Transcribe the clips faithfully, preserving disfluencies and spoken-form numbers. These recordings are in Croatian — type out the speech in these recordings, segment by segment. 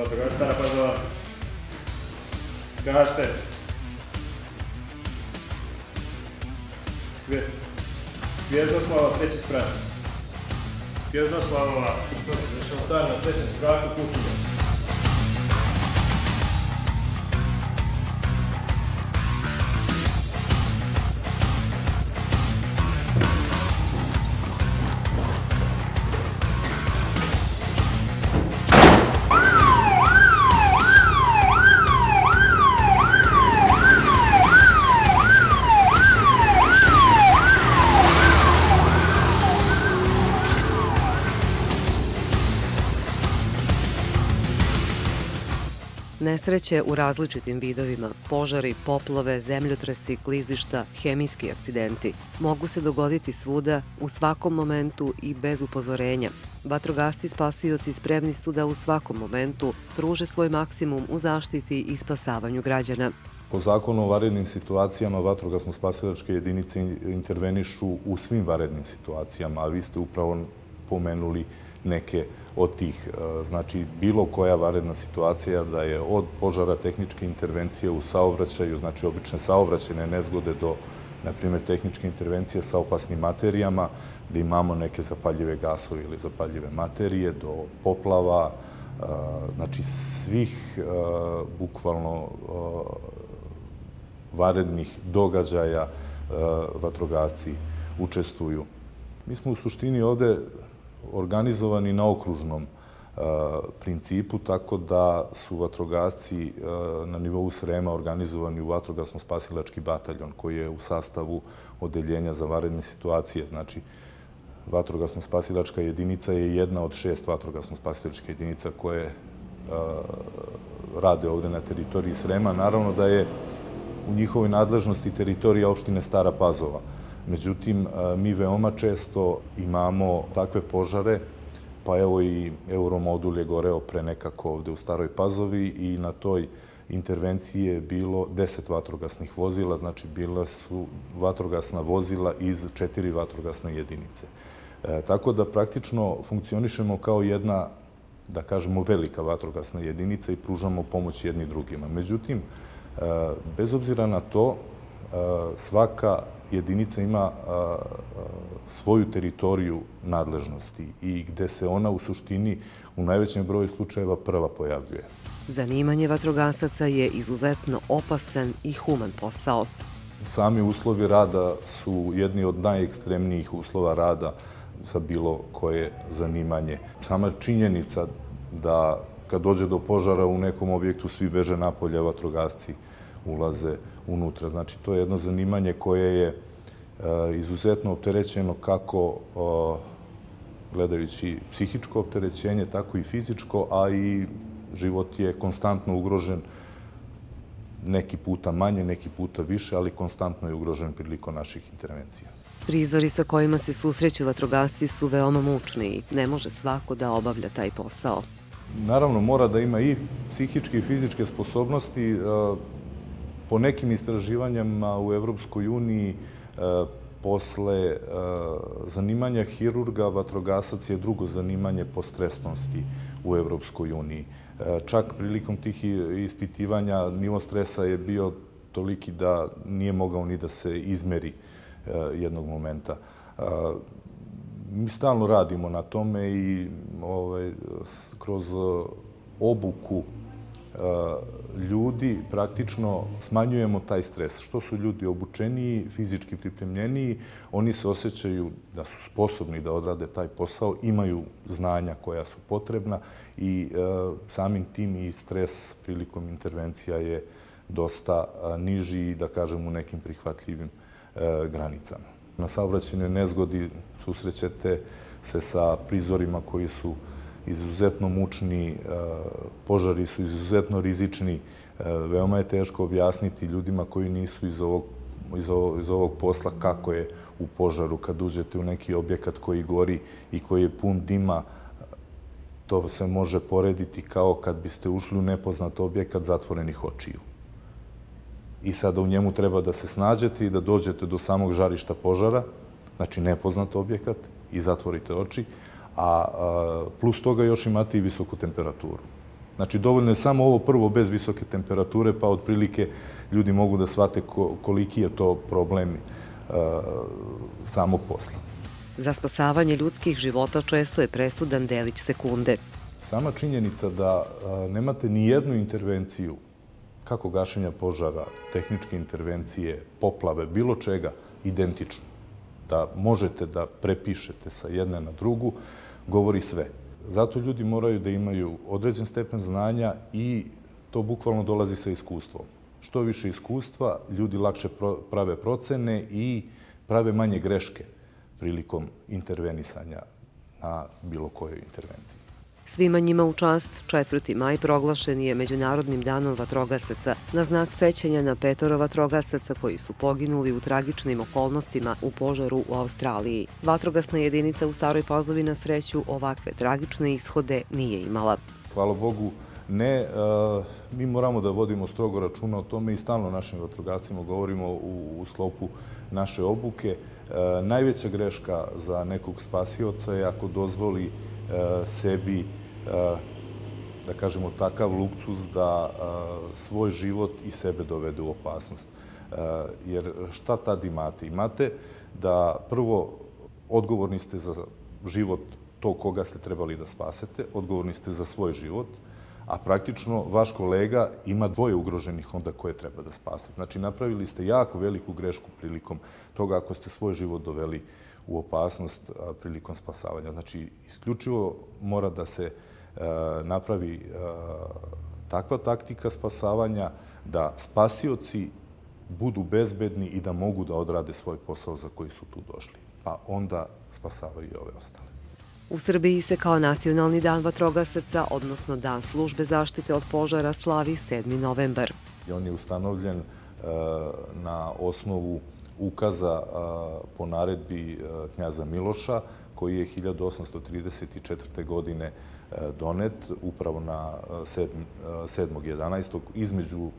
Vatrogasci Stara Pazova. Gašte. Kvježoslava, treći sprat. Kvježoslavova, što se dešava star na trećem spratu kuhinja. Nesreće u različitim vidovima, požari, poplave, zemljotresi, klizišta, hemijski akcidenti, mogu se dogoditi svuda, u svakom momentu i bez upozorenja. Vatrogasci spasioci spremni su da u svakom momentu pruže svoj maksimum u zaštiti i spasavanju građana. Po zakonu o vanrednim situacijama vatrogasno-spasilačke jedinice intervenišu u svim vanrednim situacijama, a vi ste upravo pomenuli neke od tih. Znači, bilo koja vanredna situacija da je od požara, tehničke intervencije u saobraćaju, znači obične saobraćajne nezgode do, na primjer, tehničke intervencije sa opasnim materijama, gde imamo neke zapaljive gasove ili zapaljive materije, do poplava, znači svih bukvalno vanrednih događaja vatrogasci učestvuju. Mi smo u suštini ovde organizovani na okružnom principu, tako da su vatrogasci na nivou Srema organizovani u vatrogasno-spasilački bataljon koji je u sastavu odeljenja za vanredne situacije. Znači, vatrogasno-spasilačka jedinica je jedna od šest vatrogasno-spasilačkih jedinica koje rade ovde na teritoriji Srema. Naravno da je u njihovoj nadležnosti teritorija opštine Stara Pazova. Međutim, mi veoma često imamo takve požare, pa evo i Euromodul je goreo pre nekako ovde u Staroj Pazovi i na toj intervenciji je bilo deset vatrogasnih vozila, znači bila su vatrogasna vozila iz četiri vatrogasne jedinice. Tako da praktično funkcionišemo kao jedna, da kažemo, velika vatrogasna jedinica i pružamo pomoć jedni drugima. Međutim, bez obzira na to, svaka jedinica ima svoju teritoriju nadležnosti i gde se ona u suštini u najvećem broju slučajeva prva pojavljuje. Zanimanje vatrogasaca je izuzetno opasan i human posao. Sami uslovi rada su jedni od najekstremnijih uslova rada za bilo koje zanimanje. Sama činjenica da kad dođe do požara u nekom objektu svi beže napolje, vatrogasci ulaze unutra. Znači, to je jedno zanimanje koje je izuzetno opterećeno kako gledajući psihičko opterećenje, tako i fizičko, a i život je konstantno ugrožen, neki puta manje, neki puta više, ali konstantno je ugrožen prilikom naših intervencija. Prizori sa kojima se susreću vatrogasci su veoma mučni i ne može svako da obavlja taj posao. Naravno, mora da ima i psihičke i fizičke sposobnosti. Po nekim istraživanjima u Evropskoj uniji posle zanimanja hirurga, vatrogasac je drugo zanimanje po stresnosti u Evropskoj uniji. Čak prilikom tih ispitivanja nivo stresa je bio toliki da nije mogao ni da se izmeri jednog momenta. Mi stalno radimo na tome i kroz obuku ljudi praktično smanjujemo taj stres. Što su ljudi obučeniji, fizički pripremljeniji, oni se osjećaju da su sposobni da odrade taj posao, imaju znanja koja su potrebna i samim tim i stres prilikom intervencija je dosta niži i, da kažem, u nekim prihvatljivim granicama. Na saobraćajnoj nezgodi susrećete se sa prizorima koji su izuzetno mučni, požari su izuzetno rizični. Veoma je teško objasniti ljudima koji nisu iz ovog, iz ovog, iz ovog posla kako je u požaru. Kad uđete u neki objekat koji gori i koji je pun dima, to se može porediti kao kad biste ušli u nepoznat objekat zatvorenih očiju. I sada u njemu treba da se snađete i da dođete do samog žarišta požara, znači nepoznat objekat, i zatvorite oči, a plus toga još imate i visoku temperaturu. Znači, dovoljno je samo ovo prvo bez visoke temperature, pa otprilike ljudi mogu da shvate koliki je to problem samog posla. Za spasavanje ljudskih života često je presudan delić sekunde. Sama činjenica da nemate ni jednu intervenciju, kako gašenja požara, tehničke intervencije, poplave, bilo čega, identično, da možete da prepišete sa jedne na drugu, govori sve. Zato ljudi moraju da imaju određen stepen znanja i to bukvalno dolazi sa iskustvom. Što više iskustva, ljudi lakše prave procene i prave manje greške prilikom intervenisanja na bilo kojoj intervenciji. Svima njima u čast, četvrti maj proglašen je Međunarodnim danom vatrogasaca na znak sećanja na petoro vatrogasaca koji su poginuli u tragičnim okolnostima u požaru u Australiji. Vatrogasna jedinica u Staroj Pazovi na sreću ovakve tragične ishode nije imala. Hvala Bogu, ne. Mi moramo da vodimo strogo računa o tome i stalno našim vatrogascima govorimo u sklopu naše obuke. Najveća greška za nekog spasioca je ako dozvoli sebi, da kažemo, takav luksus da svoj život i sebe dovede u opasnost. Jer šta tad imate? Imate da prvo odgovorni ste za život tog koga ste trebali da spasete, odgovorni ste za svoj život, a praktično vaš kolega ima dvoje ugroženih onda koje treba da spase. Znači, napravili ste jako veliku grešku prilikom toga ako ste svoj život doveli u opasnost prilikom spasavanja. Znači, isključivo mora da se napravi takva taktika spasavanja da spasioci budu bezbedni i da mogu da odrade svoj posao za koji su tu došli. Pa onda spasavaju i ove ostale. U Srbiji se kao Nacionalni dan vatrogasaca, odnosno Dan službe zaštite od požara, slavi sedmi novembar. On je ustanovljen na osnovu ukaza po naredbi knjaza Miloša, koji je hiljadu osamsto trideset četvrte. godine donet upravo na sedmog jedanaestog između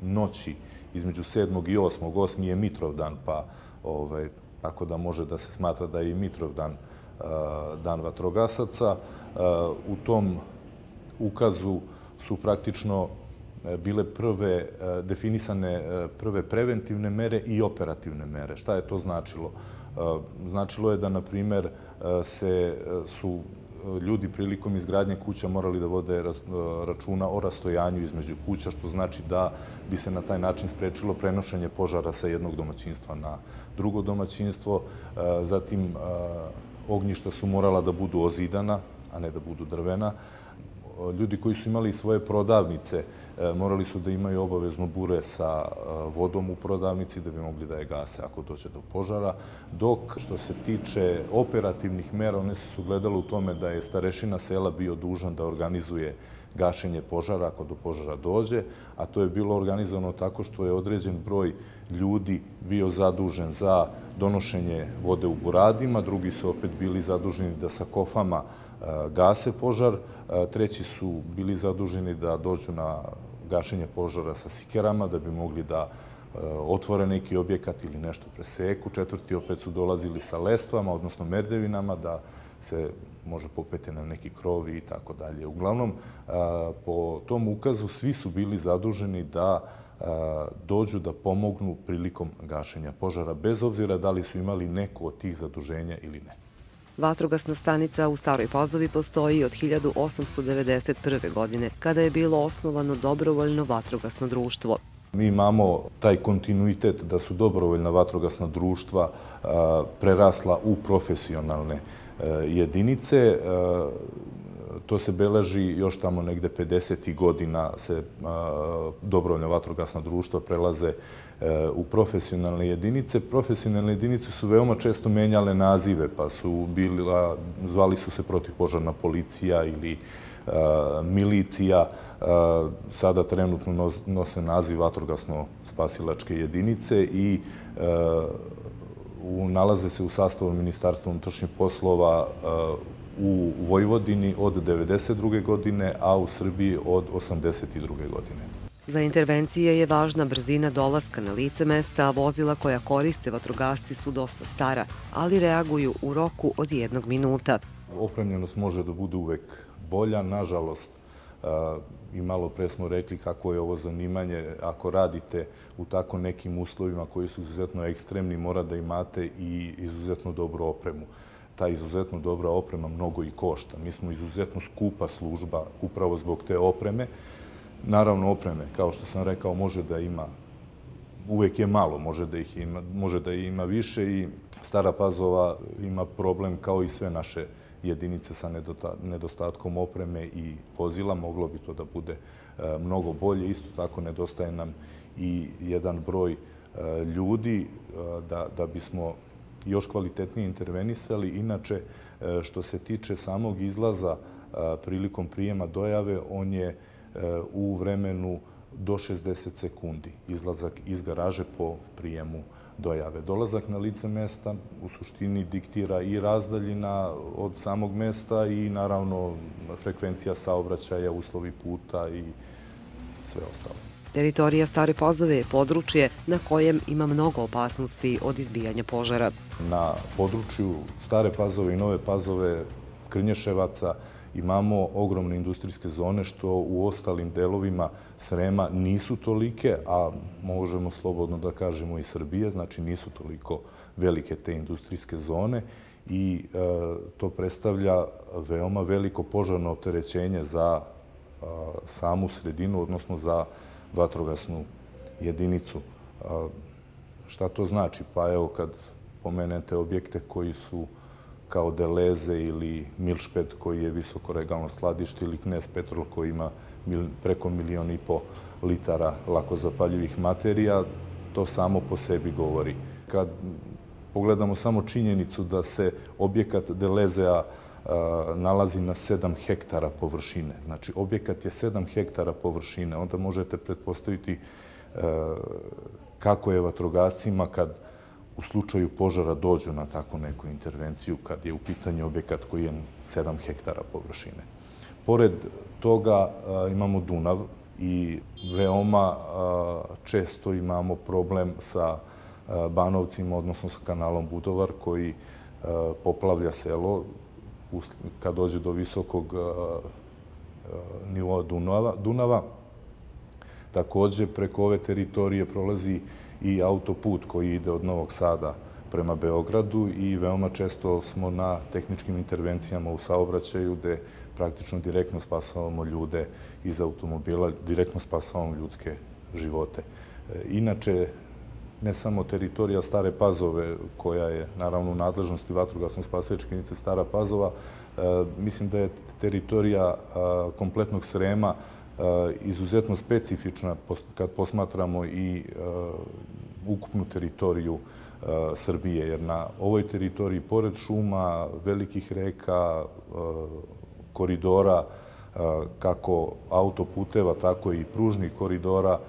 noći, između sedmog i osmog osmi je Mitrovdan, pa tako da može da se smatra da je i Mitrovdan dan vatrogasaca. U tom ukazu su praktično bile prve definisane prve preventivne mere i operativne mere. Šta je to značilo? Značilo je da, na primer, se su ljudi prilikom izgradnje kuća morali da vode računa o rastojanju između kuća, što znači da bi se na taj način sprečilo prenošenje požara sa jednog domaćinstva na drugo domaćinstvo. Zatim, ognjišta su morala da budu ozidana, a ne da budu drvena. Ljudi koji su imali svoje prodavnice morali su da imaju obavezno bure sa vodom u prodavnici da bi mogli da je gase ako dođe do požara. Dok što se tiče operativnih mera, one su se ugledale u tome da je starešina sela bio dužan da organizuje gašenje požara ako do požara dođe, a to je bilo organizovano tako što je određen broj ljudi bio zadužen za donošenje vode u buradima, drugi su opet bili zaduženi da sa kofama gase požar, treći su bili zaduženi da dođu na gašenje požara sa sikerama da bi mogli da otvore neki objekat ili nešto preseku, četvrti opet su dolazili sa lestvama, odnosno merdevinama, da se može popeti na neki krovi i tako dalje. Uglavnom, po tom ukazu svi su bili zaduženi da dođu da pomognu prilikom gašenja požara, bez obzira da li su imali neko od tih zaduženja ili ne. Vatrogasna stanica u Staroj Pazovi postoji od hiljadu osamsto devedeset prve. godine, kada je bilo osnovano dobrovoljno vatrogasno društvo. Mi imamo taj kontinuitet da su dobrovoljna vatrogasna društva prerasla u profesionalne jedinice. To se beleži još tamo negde pedesetih godina se dobrovoljna vatrogasna društva prelaze u profesionalne jedinice. Profesionalne jedinice su veoma često menjale nazive, pa su bila, zvali su se protivpožarna policija ili milicija. Sada trenutno nose naziv vatrogasno-spasilačke jedinice i nalaze se u sastavu Ministarstva unutrašnjih poslova u Vojvodini od devedeset druge. godine, a u Srbiji od osamdeset druge. godine. Za intervencije je važna brzina dolaska na lice mesta, a vozila koja koriste vatrogasci su dosta stara, ali reaguju u roku od jednog minuta. Opremljenost može da bude uvek bolja. Nažalost, I malo pre smo rekli kako je ovo zanimanje. Ako radite u tako nekim uslovima koji su izuzetno ekstremni, mora da imate i izuzetno dobru opremu. Ta izuzetno dobra oprema mnogo i košta. Mi smo izuzetno skupa služba upravo zbog te opreme. Naravno, opreme, kao što sam rekao, može da ima, uvek je malo, može da ih ima, može da ima više i Stara Pazova ima problem kao i sve naše jedinice sa nedostatkom opreme i vozila. Moglo bi to da bude mnogo bolje. Isto tako nedostaje nam i jedan broj ljudi da bismo još kvalitetnije intervenisali. Inače, što se tiče samog izlaza prilikom prijema dojave, on je u vremenu do šezdeset sekundi. Izlazak iz garaže po prijemu dojave. Dolazak na lice mesta u suštini diktira i razdaljina od samog mesta i naravno frekvencija saobraćaja, uslovi puta i sve ostalo. Teritorija Stare Pazove je područje na kojem ima mnogo opasnosti od izbijanja požara. Na području Stare Pazove i Nove Pazove, Krnješevaca, imamo ogromne industrijske zone što u ostalim delovima Srema nisu tolike, a možemo slobodno da kažemo i Srbije, znači nisu toliko velike te industrijske zone i to predstavlja veoma veliko požarno opterećenje za samu sredinu, odnosno za vatrogasnu jedinicu. Šta to znači? Pa evo kad pomenete objekte koji su kao Deleze ili Milšped koji je visokoregalno skladište ili Knez Petrol koji ima preko milion i po litara lako zapaljivih materija, to samo po sebi govori. Kad pogledamo samo činjenicu da se objekat Delezea nalazi na sedam hektara površine, znači objekat je sedam hektara površine, onda možete pretpostaviti kako je vatrogascima kad u slučaju požara dođu na takvu neku intervenciju kad je u pitanju objekat koji je sedam hektara površine. Pored toga imamo Dunav i veoma često imamo problem sa Banovcima, odnosno sa kanalom Budovar koji poplavlja selo kad dođe do visokog nivoa Dunava. Također preko ove teritorije prolazi i autoput koji ide od Novog Sada prema Beogradu i veoma često smo na tehničkim intervencijama u saobraćaju gde praktično direktno spasavamo ljude iz automobila, direktno spasavamo ljudske živote. Inače, ne samo teritorija Stare Pazove, koja je naravno u nadležnosti vatrogasno-spasilačke jedinice Stara Pazova, mislim da je teritorija kompletnog Srema izuzetno specifična kad posmatramo i ukupnu teritoriju Srbije, jer na ovoj teritoriji, pored šuma, velikih reka, koridora, kako autoputeva, tako i pružnih koridora,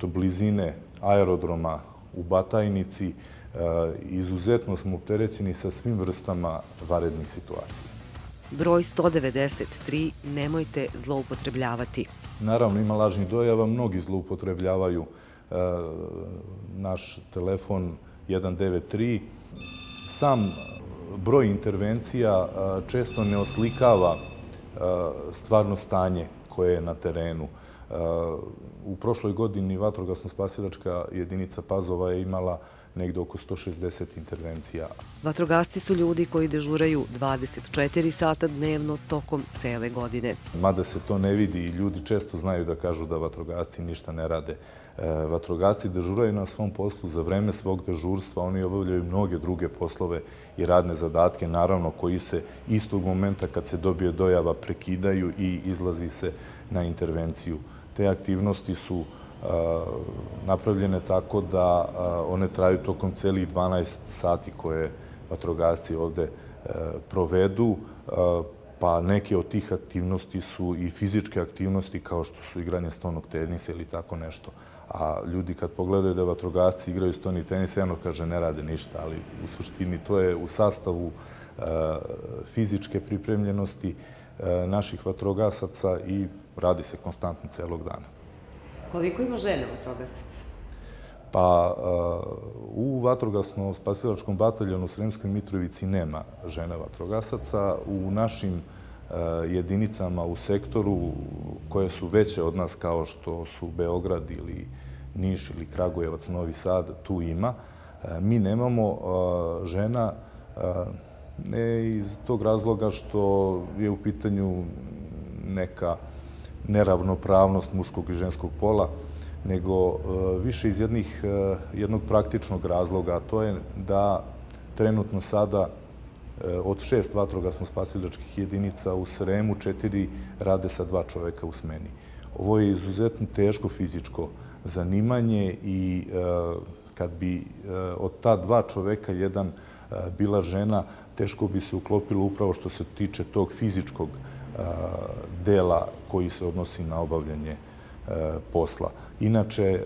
blizine aerodroma u Batajnici, izuzetno smo opterećeni sa svim vrstama vanrednih situacija. Broj sto devedeset tri nemojte zloupotrebljavati. Naravno, ima lažnih dojava, mnogi zloupotrebljavaju naš telefon jedan devet tri. Sam broj intervencija često ne oslikava stvarno stanje koje je na terenu. U prošloj godini vatrogasno-spasilačka jedinica Pazova je imala negde oko sto šezdeset intervencija. Vatrogasci su ljudi koji dežuraju dvadeset četiri sata dnevno tokom cele godine. Mada se to ne vidi i ljudi često znaju da kažu da vatrogasci ništa ne rade. Vatrogasci dežuraju na svom poslu za vreme svog dežurstva, oni obavljaju mnoge druge poslove i radne zadatke, naravno koji se istog momenta kad se dobije dojava prekidaju i izlazi se na intervenciju. Te aktivnosti su napravljene tako da one traju tokom celih dvanaest sati koje vatrogasci ovde provedu, pa neke od tih aktivnosti su i fizičke aktivnosti kao što su igranje stonog tenisa ili tako nešto. A ljudi kad pogledaju da vatrogasci igraju stoni tenis, jedno kaže ne rade ništa, ali u suštini to je u sastavu fizičke pripremljenosti naših vatrogasaca i radi se konstantno celog dana. Koliko ima žena vatrogasaca? Pa u vatrogasno-spasilačkom bataljonu u Sremskoj Mitrovici nema žena vatrogasaca. U našim jedinicama u sektoru koje su veće od nas kao što su Beograd ili Niš ili Kragujevac, Novi Sad, tu ima. Mi nemamo žena ne iz tog razloga što je u pitanju neka neravnopravnost muškog i ženskog pola, nego više iz jednih, jednog praktičnog razloga, a to je da trenutno sada od šest vatrogasno-spasilačkih jedinica u Sremu, četiri rade sa dva čoveka u smeni. Ovo je izuzetno teško fizičko zanimanje i kad bi od ta dva čoveka jedan bila žena, teško bi se uklopilo upravo što se tiče tog fizičkog dela koji se odnosi na obavljanje posla. Inače,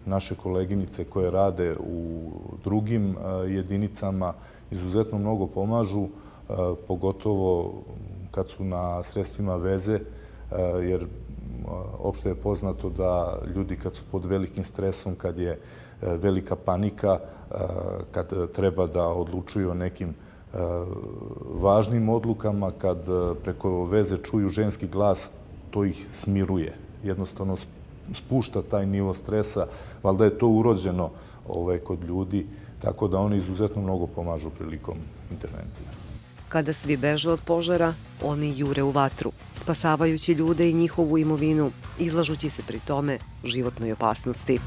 naše koleginice koje rade u drugim jedinicama izuzetno mnogo pomažu, pogotovo kad su na sredstvima veze, jer opšte je poznato da ljudi kad su pod velikim stresom, kad je velika panika, kad treba da odlučuju o nekim važnim odlukama, kad preko veze čuju ženski glas, to ih smiruje. Jednostavno spušta taj nivo stresa, valjda je to urođeno kod ljudi, tako da oni izuzetno mnogo pomažu prilikom intervencije. Kada svi beže od požara, oni jure u vatru, spasavajući ljude i njihovu imovinu, izlažući se pri tome životnoj opasnosti.